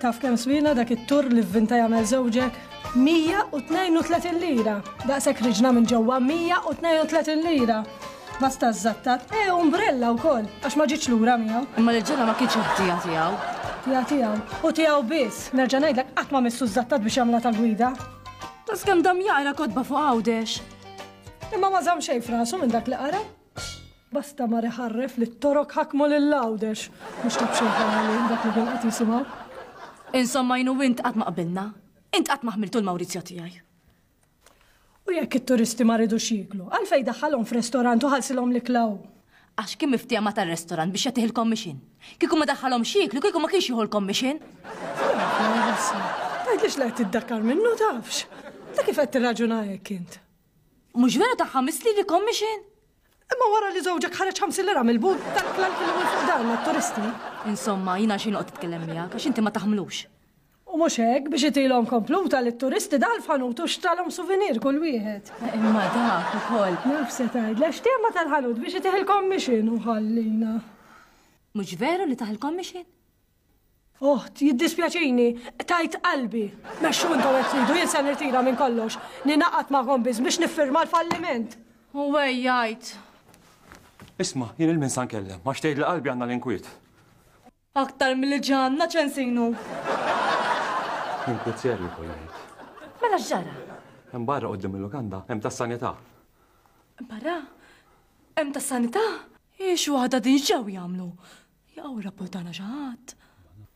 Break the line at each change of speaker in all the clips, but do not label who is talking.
Taf kemm swina dak it-tur li vvinta jagħmel żewġek? 132 lira. Daqshekk riġna minn ġewwa 132 lira. Basta żattat. E umbrella wkoll, għax ma ġietx lura miegħu.
Imma li ġara ma kienx ħtija tiegħu.
Tija tiegħu. U tiegħu biss. Nerġa' ngħidlek qatt ma missu żattat biex jagħmla ta' gwida.
Tas kemm dam jaqra kotba fuq Għawdex.
Imma ma żamm xejn f'rasu minn dak li qara. Basta mar iħarref li t-Torok ħakmu lil Għawdex. Mhux ta' b'xejn ħalali dak li kien qed jisimgħu.
Insomma jien u int qatt ma qbilna. Int qatt ma ħmiltu l-Mawrizio tiegħi.
U jekk it-turisti ma ridux jieklu, għalfejn daħħalhom f'restorant u ħallsilhom l-ikla hu?
Għax kien miftiehem ma' tar-restorant biex jagħtih il-commission. Kieku ma daħħalhomx jieklu, kieku ma kienx jieħu l-commission.
Tgħidlix li qed tiddakkar minnu tafx. Ta' kif qed tirraġuna hekk int?
Mhux vera ta' ħames liri commission?
Imma wara li żewġek ħareġ 50 lira mill-but tal-ikla li kielu minn fuq dan mat-turisti.
Insomma, jien għalxejn noqgħod nitkellem miegħek għax inti ma taħmlux.
U mhux hekk, biex itilhom kompluta lit-turisti daħal f'ħanut u xtralhom souvenir kull wieħed.
Imma dak ukoll.
Naf se tgħidli, għax tema tal-ħanut biex itih il-commission u ħallina.
Mhux veru li tah il-commission?
Oħt, jiddispjaċini, qtajt qalbi. Mexxu intom hekk tridu, jien se nirtira minn kollox. Ningħaqad magħkom biss biex niffirma l-falliment.
U għejjajt.
Isma', jien 'il min sa nkellem, għax tgħidli qalbi għandna l-inkwiet.
Aktar milli ġa għandna Ċensinu.
Inkwiet serju jkolli ngħid.
Mela x'ġara?
Hemm barra quddiem il-lukanda, hemm tas-sanità.
Barra? Hemm tas-sanità? Hi xi waħda din x'ġew jagħmlu? Jaqaw irrapportana xi ħadd?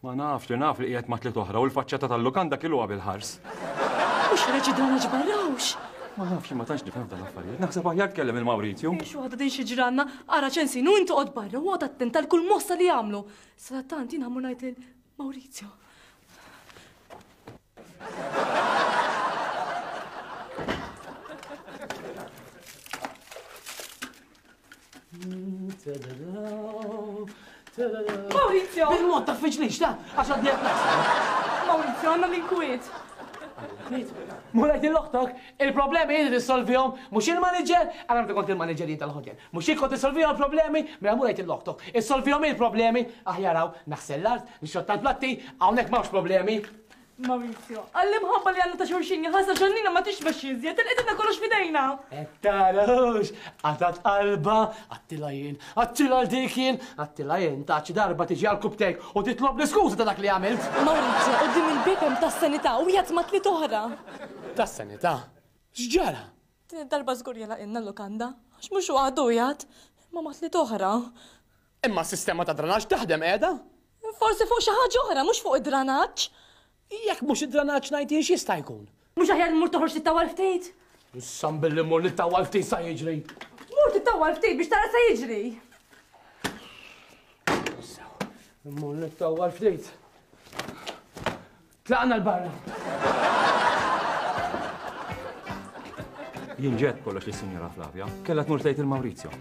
Ma nafx, li naf li qiegħed ma' tliet oħra u l-faċċata tal-lukanda kiluha bil-ħars.
Mhux ħareġ id-dranaġġ barra hux?
Ma nafx, ma tantx nifhem f'dan l-affarijiet. Naħseb aħjar tkellem il-Mawrizju.
Xi waħda din xi ġranna, ara ċensin u inti oqgħod barra u oqgħod attent għal kull mossa li jagħmlu. Sadattant jien ħammur ngħid lil Mawrizio. Maurizio!
Bil-mod ta' fiġlix, ta' għax għadni qed naħseb.
Maurizio, għandna l-inkwiet.
Inkwiet? Mulejt il-oħtok, il-problemi jien risolvihom, mhux il-manager, għara meta kont il-manager jien tal-hotel. Mhux jien kont issolvihom il-problemi, mela mulejt il-oħtok. Issolvihom il-problemi, aħjar hawn naħsel l-art, nixxotta l-platti, hawnhekk m'hawnx problemi.
Maurizio, għall-imħabba li għandna ta' xulxin jaħasra ġannina ma tixbax iżjed, il-qedna kollox f'idejna.
Qed tarahux, qatgħat qalbha, għattilha jien, għattilha 'l dik jien, għattilha jien, ta' xi darba tiġi għal kubtejk u titlobni skuża ta' dak li għamilt.
Maurizio, quddiem il-bieb hemm tas-sanità u qiegħed ma' tliet oħra.
Tas-sanità? X'ġara?
Din id-darba żgur jagħlaqilna l-lukanda, għax mhux waħdu qiegħed, imma ma' tliet oħra.
Imma s-sistema ta' dranaġġ taħdem qiegħda?
Forsi fuq xi ħaġa oħra, mhux fuq id-dranaġġ.
Jekk mhux id-dranaġġ ngħid jien x'jista' jkun?
Mhux aħjar immur toħroġ tittawwal ftit?
Issa billi mmur nittawwal ftit sa jiġri.
Mur tittawwal ftit biex tara sa jiġri.
Issa, immur nittawwal ftit. Tlaqna 'l barra.
Jien ġed kollox lis-Sinjora Flavia. Kellha tmur tgħid il-Maurizio.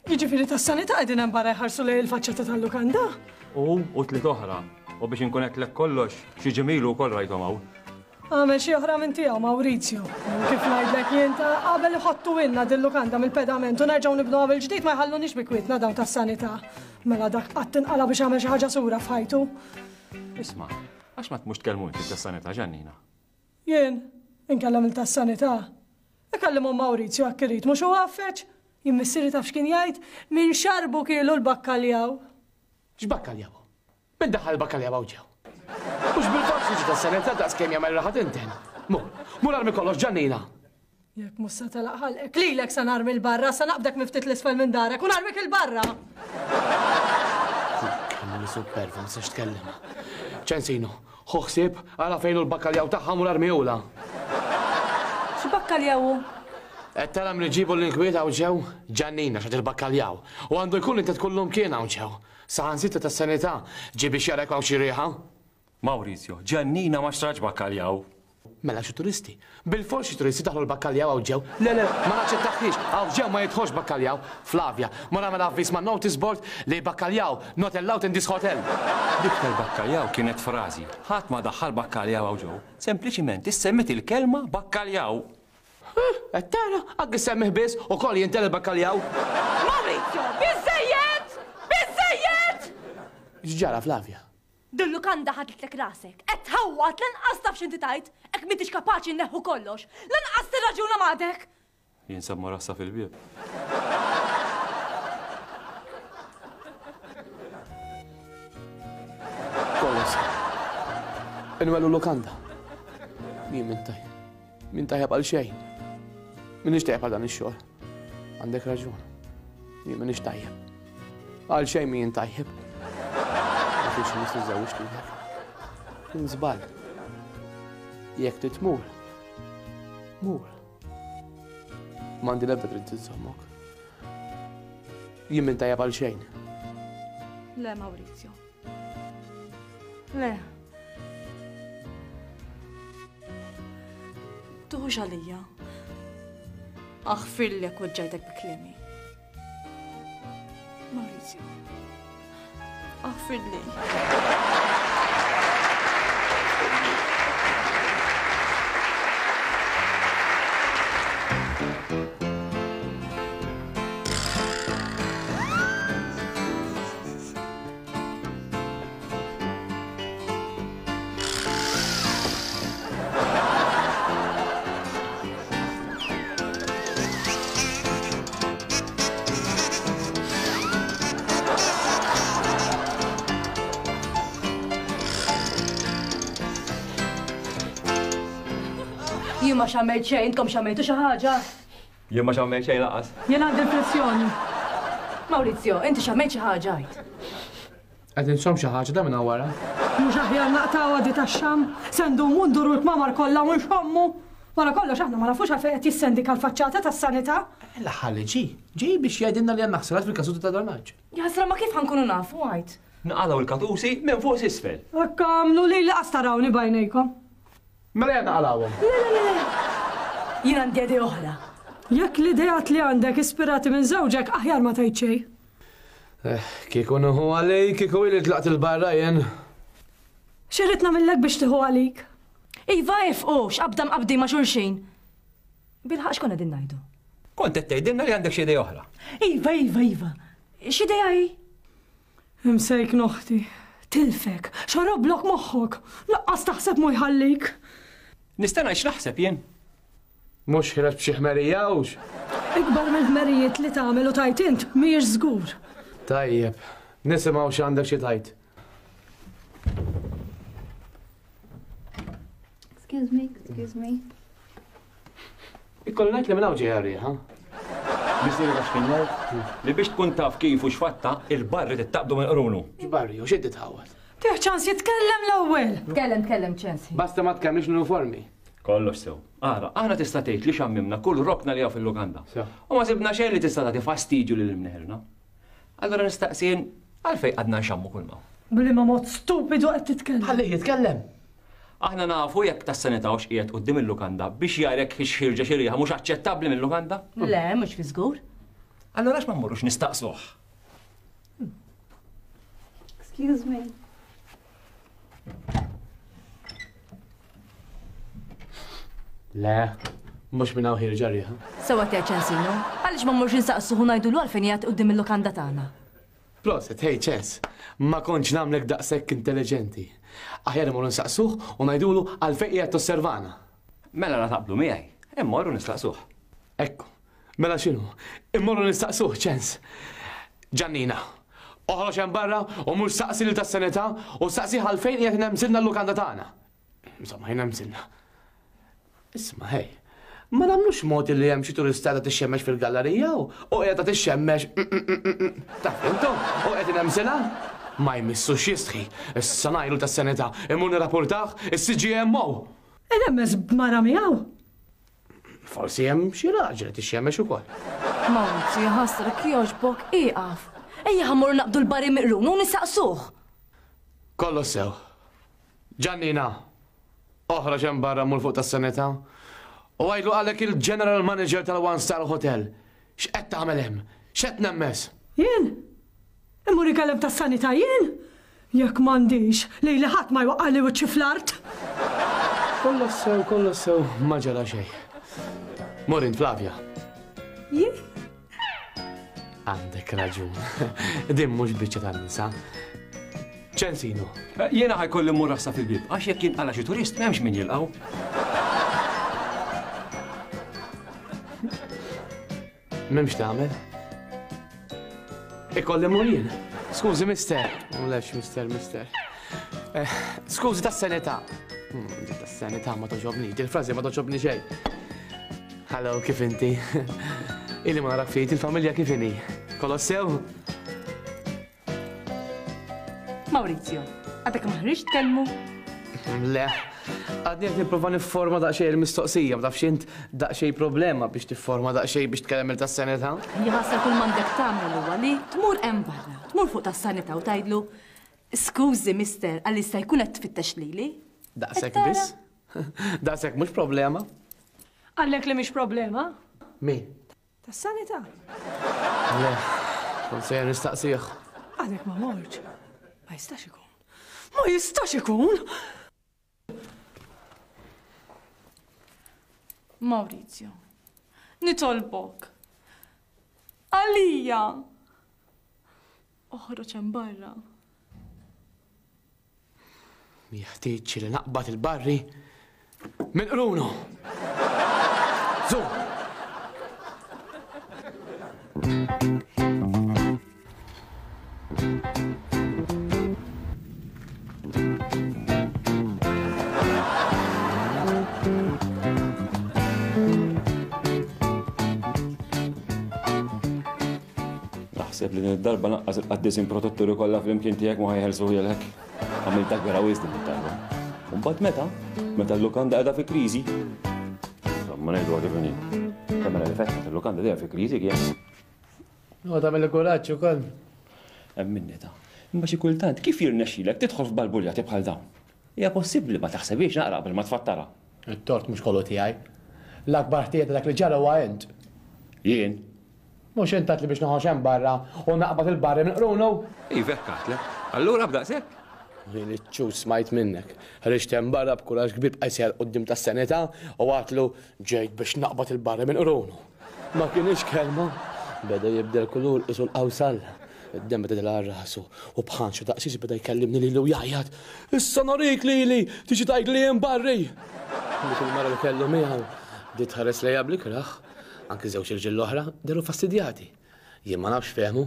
Jiġifieri tas-sanità qegħdin hemm barra jħarsu lejn il-faċċata tal-lukanda?
U u tliet oħra. U biex inkun għedtlek kollox, xi ġimilu wkoll rajthom hawn.
Għamel xi oħra minn tiegħu Maurizio. Kif ngħidlek jien ta' qabel iħottu ilna dil-lukanda mill-pedament u nerġgħu nibnuha mill-ġdid ma jħalluniex bi kwietna dawn tas-sanità. Mela dak qatt inqala' biex għamel xi ħaġa sura f'ħajtu.
Isma', għax ma tmux tkellmu inti tas-sanità Ġannina?
Jien? Inkellem lil tas-sanità? Ikellimhom Maurizio hekk irid, mhux hu għaffeġ? Jien missieri taf x'kien jgħid? Min xarbu kielu l-bakkaljaw.
X'bakkaljaw? Min daħħal il-bakkaljaw hawn ġew? Mhux bilfors jiġi tas-sanità daqs kemm jagħmel raħa tinten. Mur, mur armi kollox Ġannina!
Jekk mhux se telaq ħalqek, lilek se narmi 'l barra, se naqbdek minn ftit 'l isfel minn darek u narmik 'il barra!
Kemm hi superva, ma tistax tkellimha. Ċensino, ħu ħsieb, ara fejn hu l-bakkaljaw tagħha mur armihulha.
X'bakkaljaw hu?
Qed tara min iġibu l-inkwiet hawn ġew? Ġannina x'għad il-bakkaljaw. U għandu jkun li tkun lumkien hawn ġew. Saħansitra tas-sanità ġie biex jara jekk hawnx xi riħa.
Maurizio, Ġannina ma xtratx bakkaljaw.
Mela xi turisti. Bilfors xi turisti daħlu l-bakkaljaw hawn ġew. Le, le, ma naċċettahiex, hawn ġew ma jidħolx bakkaljaw. Flavia, mur agħmel avviż man-notice board li bakkaljaw not allowed in this hotel.
Dik tal-bakkaljaw kienet frażi. Ħadd ma daħħal bakkaljaw hawn ġew. Sempliċiment issemmiet il-kelma bakkaljaw.
Huh, qed tara? Anki ssemmih biss, ukoll jinten il-bakkaljaw.
Maurizio, biżżejjed! Biżżejjed!
X'ġara Flavia?
Din lukanda ħadlitlek rasek. Qed tħawwad lanqas taf x'inti tgħid, hekk m'intix kapaċi nneħħu kollox. Lanqas tirraġuna m'għadek!
Jinsab marassa fil-bieb.
Kollox. Inwellu lukanda. Jien minn tajjeb. Min tajjeb għal xejn. Minix tajjeb għal dan ix-xogħol. Għandek raġun. Jien minix tajjeb. Għal xejn min tajjeb. Ma kienx imiss niżżewwiġ lilek. Kien żball. Jekk trid tmur, mur. M'għandi l-ebda dritt iżommok. Jien min tajjeb għal xejn.
Le, Maurizio. Le. Tuħux għalija. Aħfirlek weġġajtek bi kliemi. Maurizio. Aħfirli. Jien ma xammejt xejn, intkom xammejtu xi ħaġa?
Jien ma xammejt xejn lanqas.
Jien għandi l-pressjoni.
Maurizio, inti xammejt xi ħaġa għid.
Qed inxomm xi ħaġa da minn hawn wara.
Mhux aħjar naqtgħuha di tax-xamm? Se ndumu nduru l-kmamar kollha u nxommu? Wara kollox aħna ma nafux għalfejn qed jissendika l-faċċata tas-sanità.
L-aħħar li ġie, ġie biex jgħidilna li għandna ħsarat fil-kasuti ta' dranaġġ.
Jaħasra ma kif ħa nkunu nafu għid?
Nqalgħu l-katusi minn fuq s'isfel.
Hekk agħmlu lili qas tarawni b'għajnejkom.
Mela ejja naqalgħuhom.
Le, le, le, le! Jien għandi idea oħra.
Jekk l-ideat li għandek ispirati minn żewġek aħjar ma tgħid xejn.
Eh, kieku nieħu għalik, kieku ili tlaqt il-barra jien.
X'irrid nagħmillek biex tieħu għalik?
Iva ifqu, x'qabda mqabbdin ma' xulxin. Bilħaqq x'konna qegħdin ngħidu?
Kont qed tgħidilna li għandek xi idea oħra.
Iva, iva, iva. X'idea hi?
Imsejkna oħti. Tilfek. Xoroblok moħħok. Laqqas taħseb mhu jħallik.
Nista' ngħid x'naħseb jien?
Mhux ħireġ b'xi ħmerija hux?
Ikbar mill-ħmerijiet li tagħmel u tgħid int mhijiex żgur.
Tajjeb. Nisimgħu x'għandek xi tgħid.
Excuse me, excuse me.
Ikolli ngħid li minn hawn ġejja r-riħa.
Missieri taf x'kien jgħid? Li biex tkun taf kif u x'fatta, il-barri trid taqbdu minn qrunu.
X'barri u x'inti tħawwad?
Tih ċans jitkellem l-ewwel!
Tkellem, tkellem, ċens.
Basta ma tkellmix l-uniformi.
Kollox sew. Ara, aħna tista' tgħid li xammimna kull rokna li hawn fil-lukanda. U ma sibna xejn li tista' tagħti fastidju lil imneħirna. Allura nistaqsi jien, għalfejn qgħadna nxammu kull m'hawn?
B'liema mod stupidu qed titkellem?
Ħallih jitkellem!
Aħna nafu jekk tas-sanità hux qiegħed quddiem il-lukanda biex jara jekk hix ħierġa xi riħa mhux aċċettabbli mil-lukanda?
Le, mhux fi żgur.
Allura għax ma mmorrux nistaqsuh?
Excuse me.
Le, mhux minn hawn ħierġa riħa.
Sewwa tgħid Ċensinu, għaliex ma mmorrux insaqsuh u ngħidulu għalfejn qiegħed quddiem il-lukanda tagħna?
Proset, hey Ċens, ma kontx nagħmlek daqshekk intelliġenti. Aħjar immorru nsaqsuh u ngħidulu għalfejn qiegħed tosservana.
Mela la taqblu miegħi, immorru nistaqsuh.
Ekku, mela x'inhu? Immorru nistaqsuh, Ċens. Ġannina, oħroġ hemm barra u mur saqsi lil tas-sanità u saqsih għalfejn qiegħed inemsilna l-lukanda tagħna. Insomma, jnemsilna. Isma' ħej, ma nagħmlux mod illi hemm xi turista qiegħda tixxemmex fil-gallerija u qiegħda tixxemmex taf intom u qed inemsilha? Ma jmissux jistħi. Issa ngħidlu tas-sanità, immur nirrapportah is-CGMO.
Inemmes b'mara miegħu?
Forsi hemm xi raġel qed ixxemmex ukoll.
Mawrizio, ħasra, kjoġbok, ieqaf. Ejja ħa mmorru naqbdu l-bari miqrun u nistaqsuh.
Kollox sew. Ġannina, oħroġ hemm barra mur fuq tas-sanità u għidlu qalek il-General Manager tal-One Star Hotel. X'qed tagħmel hemm? X'qed tnemmes?
Jien? Immur inkellem tas-sanità jien? Jekk m'għandix, lili ħadd ma jwaqqagħli wiċċi fl-art!
Kollox sew, kollox sew, ma ġara xejn. Mur int Flavia.
Jien?
Għandek raġun. Din mhux biċċa tan-nisa. Ċensino.
Eh, jiena ħajkolli mmur rassa fil-bieb, għax jekk jinqala xi turist m'hemmx min jilqgħu.
M'hemmx tagħmel. Ikolli mmur jien. Skużi, mister. Mlex, mister, mister. Eh, skużi tas-sanità. Hmm, tas-sanità ma toġobni, il-frażi ma toġobni xejn. Hello, kif inti? Ili ma narak ftit, il-familja kif inhi? Kollox sew?
Maurizio, għadek ma ħriġt tkellmu?
Le, għadni qed nipprova nifforma daqsxejn il-mistoqsija, ma tafx int daqsxejn problema biex tifforma daqsxejn biex tkellem il tas-sanità.
Jaħasra kull m'għandek tagħmel huwa li tmur hemm barra, tmur fuq tas-sanità u tgħidlu, Skużi, mister, għal jista' jkun qed tfittex lili?
Daqshekk biss? Daqshekk mhux problema.
Qallek li mhix problema?
Min?
Tas-sanità.
Le, kont sejjer nistaqsih.
Għadek ma mortx. Ma jistax ikun. Ma jistax ikun!
Maurizio, nitolbok. Għalija! Oħroġ hemm barra.
Jeħtieġ li naqbad il-barri minn qrunu. Zu!
Naħseb li din id-darba lanqas il-qaddisin protetturi kollha flimkien tiegħek ma ħajħelsuhielek. Għamiltha kbira wisq din id-darba. U mbagħad meta? Meta l-lukanda qiegħda fi kriżi. Insomma, ngħiduha kif inhi. Kemm li fetħet il-lukanda dejjem fi kriżi kien.
U tagħmel il-kuraġġ ukoll.
Hemm minni ta. Imma xi kultant kif jirnexxilek tidħol f'balbuljati bħal dawn? Hija possibbli ma taħsebhiex naqra qabel ma tfattarha.
It-tort mhux kollu tiegħi. L-akbar ħtija ta' dak li ġara huwa int.
Jien?
Mhux int għedtli biex noħroġ hemm barra u naqbad il-barri minn qrunu?
Iva hekk għedtlek. Allura b'daqshekk?
Jien iċ-ċuċ smajt minnek. Ħriġt hemm barra b'kuraġġ kbir bqajt sejjer quddiem tas-sanità u għedtlu ġejt biex naqbad il-barri minn qrunu. Ma kinitx kelma. Beda jibdel kulur qisu l-qawsall. Id-demm beda jidhel għal rasu u b'ħanxu daqsiex beda jkellimni lili u jgħajjat, Issa norik lili! Tiġi tgħidli jien barri! Dik il-mara li kellu miegħu bdiet tħares lejha bl-ikrah. Anki żewġ irġiel l-oħra dehru fastidjati. Jien ma nafx fehmu.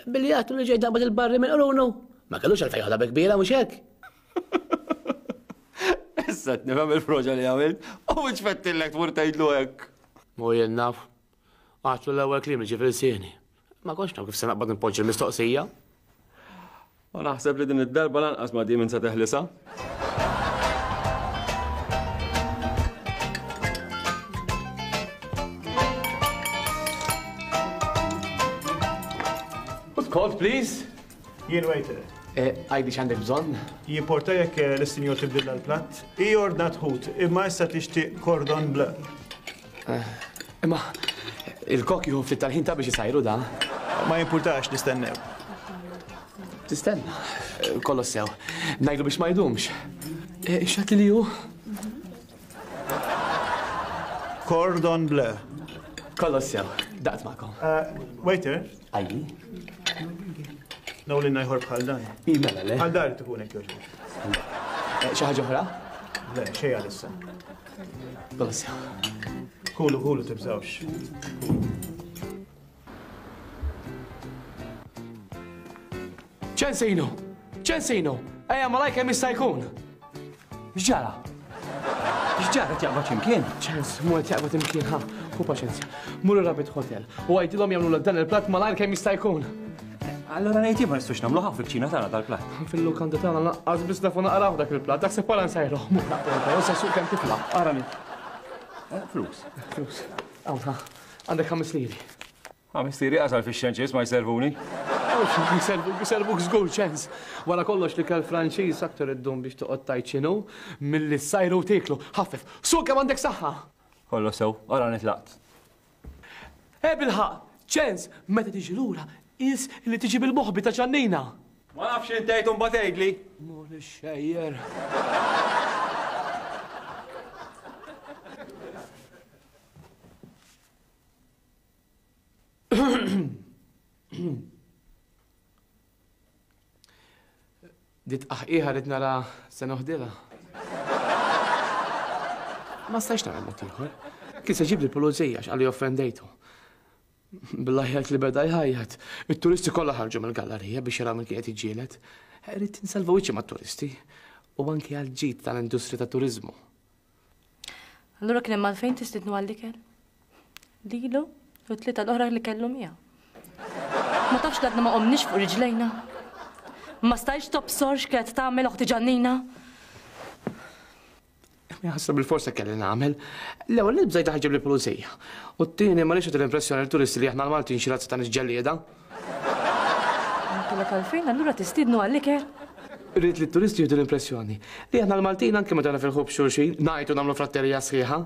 Billi għedtlu li ġejt naqbad il-barri minn qrunu. Ma kellux għalfejn joħodha bi kbira, mhux hekk?
Issa qed nifhem il-froġa li għamilt u mhux fettillek tmur tgħidlu hekk.
U jien naf. Għedtlu l-ewwel kliem li ġie f'ilsieni. Ma kontx naf kif se naqbad npoġġi l-mistoqsija.
U naħseb li din id-darba lanqas ma di minn se teħlisha.
Put cold, please.
Jien waiter.
Eh, għajdi x'għandek bżonn?
Jimporta jekk eh, l-istinjor tibdilla l-platt? Hi ordnat ħut, imma issa tixtieq cordon bleu.
Eh, imma il-kok jieħu ftit tal-ħin ta' biex isajru da.
Ma jimpurtax nistennew.
Tistenna, kollox sew. Ngħidlu biex ma jdumx. Eh, x'għad li hu?
Cordon bleu.
Kollox sew. Daqt magħkom.
Eh, waiter?
Ajli.
Nawlinna ieħor bħal dan.
Mela le.
Għal dar tkun hekk jogħġbok.
Eh, xi ħaġa oħra?
Le, xejn għalissa.
Kollox sew.
Kulu, kulu tibżawx.
Ċensino! Ċensino! Ejja malaj kemm jista' jkun!
X'ġara? X'ġara qed jaqbad x'imkien?
Ċens, mhu qed jaqbad imkien, ha, ħu paċenzja. Mur ir-Rabbit Hotel u għidilhom jagħmlulek dan il-platt malajr kemm jista' jkun.
Allura ngħid jien ma nistgħux nagħmluh hawn fil-kċina tagħna dal-platt.
Fil-lukanda tagħna lanqas biss nafu naqraw dak il-platt, daħseb wara nsajruh. Mur naqbad il-karozza suq kemm tifla.
Arani. Eh, flus.
Flus. Hawn, ha. Għandek ħames liri.
Ħames liri qasal fix-xenċis ma jservuni.
Mhux ma jservuk, jservuk żgur ċens. Wara kollox l-ikel Franċiż aktar iddum biex toqgħod tgħid x'inhu milli ssajru u tieklu. Ħaffef, suq kemm għandek saħħa!
Kollox sew, ara nitlaqt.
Eh bilħaqq, ċens, meta tiġi lura, qis li tiġi bil-moħbi ta' Ġannina.
Ma nafx x'int tgħid u mbagħad għidli.
Mur ixxejjer. Di tqaħqiħa rrid nara se noħdilha. Ma stajtx nagħmel mod ieħor. Kien se jġibli l-pulizija għax qalli offendejtu. Bil-għajjat li beda jħajjat, it-turisti kollha ħarġu mill-gallerija biex jaraw min kien qed jiġġieled. Ridt insalva wiċċi mat-turisti u anki għall-ġid tal-industrija tat-turiżmu.
Allura kien hemm għalfejn tistiednu għall-ikel? Lilu u t-tlieta l-oħra li kellu miegħu. Ma tafx li għadna ma qomniex fuq riġlejna? Ma stajtx tobsor x'kienet tagħmel oħti Ġannina?
Ħasra bil-forsa kelli nagħmel. L-ewwel nett bżajt ħaġġib lill-pulizija. U t-tieni ma rridx nagħti l-impressjoni lit-turisti li aħna l-Maltin xi razza ta' nies ġellieda.
Ma kellek għalfejn allura tistiednu għall-ikel?
Ridt li t-turisti jieħdu l-impressjoni li aħna l-Maltin anke meta nifirħu b'xulxin, ngħajtu nagħmlu fratterija sħiħa.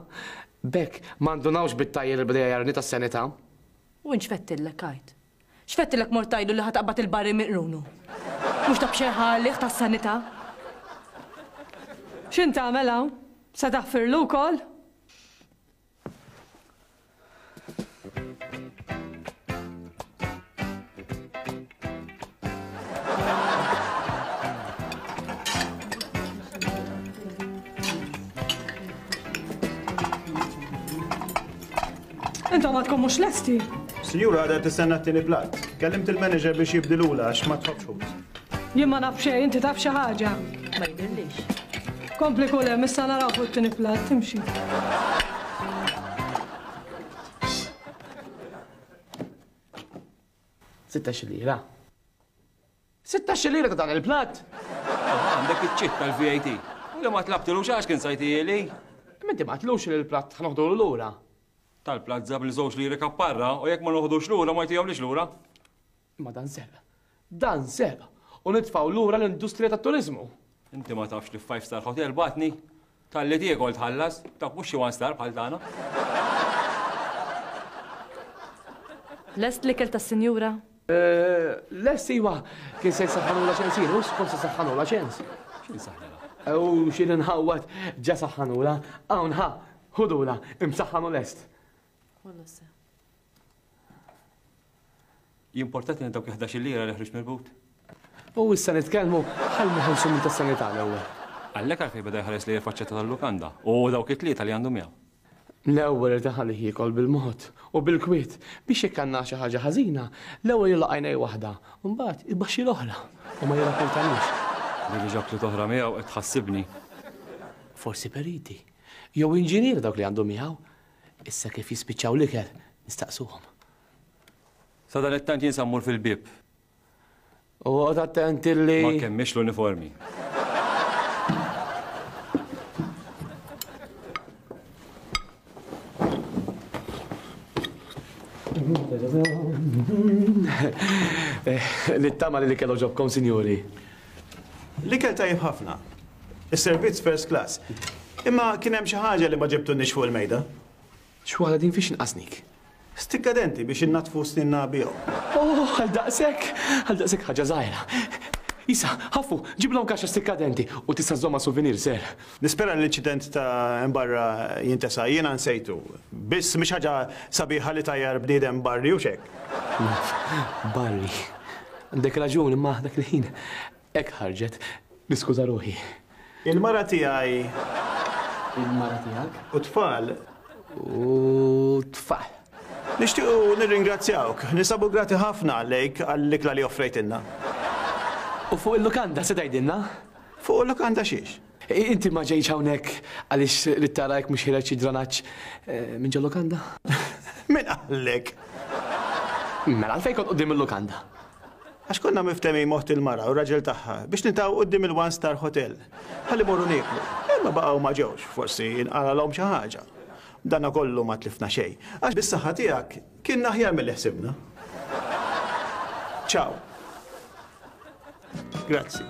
B'hekk ma ndunawx bit-tgħajjir li beda jgħajjarni tas-sanità.
U int x'fettillek għid? X'fettilek mort tgħidlu li ħa taqbad il-barri minn qrunu? Mhux ta' b'xejn ħa għalih tas-sanità?
X'int tagħmel hawn? Se taħfirlu wkoll? Intom għadkom mhux lesti?
Sinjura għadha tistenna t-tieni platt. Kellimt il-manager biex jibdilulha għax ma tħobbx ħut.
Jien ma naf xejn, inti taf xi ħaġa?
Ma jidhirlix.
Kompli kul hemm, issa naraw fuq it-tieni platt, imxi.
16 lira. 16 lira ta' dan il-platt!
Għandek iċ-ċitt tal-VAT. U li ma tlabtilux għax kien sajtieli.
Imma inti ma għedtlux li l-platt ħa noħdulu lura.
Tal-platt żabb li żewġ liri kapparra u jekk ma noħdux lura ma jtihomlix lura.
Imma dan serq. Dan serq! U nitfgħu lura l-industrija tat-turiżmu.
Inti ma tafx li f'five star hotel bagħtni? Talli tiekol tħallas, dak mhux xi one star bħal tagħna.
Lest l-ikel tas-sinjura?
Lest iva, kien se jsaħħanulha ċens jien, hux kont se saħħanulha ċens.
X'in saħħnilha?
U x'in inħawwad ġa saħħanulha. Hawn ħa, ħudulha, imsaħħan u lest.
Jimportatni dawk il-ħdax-il lira li ħriġt mill-but.
U issa nitkellmu, ħalli neħilsu minn tas-sanità l-ewwel.
Għalhekk għalfejn beda jħares lejn il-faċċata tal-lukanda u dawk it-tlieta li għandu miegħu.
L-ewwel irid iħallih jiekol bil-mod u bil-kwiet biex jekk għandna xi ħaġa ħażina, l-ewwel jilgħaq għajnej waħda u mbagħad ibaxxi l-oħra u ma jirrapportaniex.
Din li ġabtli toħra miegħu qed tħassibni.
Forsi periti jew inġinier dawk li għandu miegħu. Issa kif jispiċċaw l-ikel nistaqsuhom.
Sadanittant jien sa mmur fil-bieb.
U oqgħod attent illi.
Ma nkemmix l-uniformi.
Nittama li l-ikel għoġobkom, sinjuri.
L-ikel tajjeb ħafna. Is-servizz first class. Imma kien hemm xi ħaġa li ma ġibtunniex fuq il-mejda.
X'waħda din fiex inqasnik?
Stikka denti biex innaddfu sninna bihom.
Oh, għal daqshekk! Għal daqshekk ħaġa żgħira. Isa, ħaffu, ġiblhom kaxxa stikka denti u tista' żżommha souvenir, sir.
Nispera li l-inċident ta' hemm barra jintesa'. Jiena nsejtu. Biss mhix ħaġa sabiħa li tgħajjar bniedem barri, hux hekk?
Naf, barri. Għandek raġun, imma dak il-ħin Hekk ħarġet. Niskuża ruħi.
Il-mara tiegħi.
Il-mara tiegħek.
U t-tfal.
U t-tfal.
Nixtiequ nirringrazzjawk. Ninsabu grati ħafna lejk għall-ikla li offrejtilna.
U fuq il-lukanda se tgħidilna?
Fuq il-lukanda xiex?
Inti ma ġejtx hawnhekk għaliex ridt tara jekk mhux ħiereġ xi dranaġġ minn ġol-lukanda?
Min qallek?
Mela għalfejn kont quddiem il-lukanda?
Għax konna miftehmin m'oħt il-mara u r-raġel tagħha biex niltaqgħu quddiem il-One Star Hotel ħalli mmorru nieklu. Imma baqgħu ma ġewx, forsi inqalgħalhom xi ħaġa. B'danakollu ma tlifna xejn, għax bis-saħħa tiegħek kienna aħjar milli ħsibna. Ciao. Grazzi.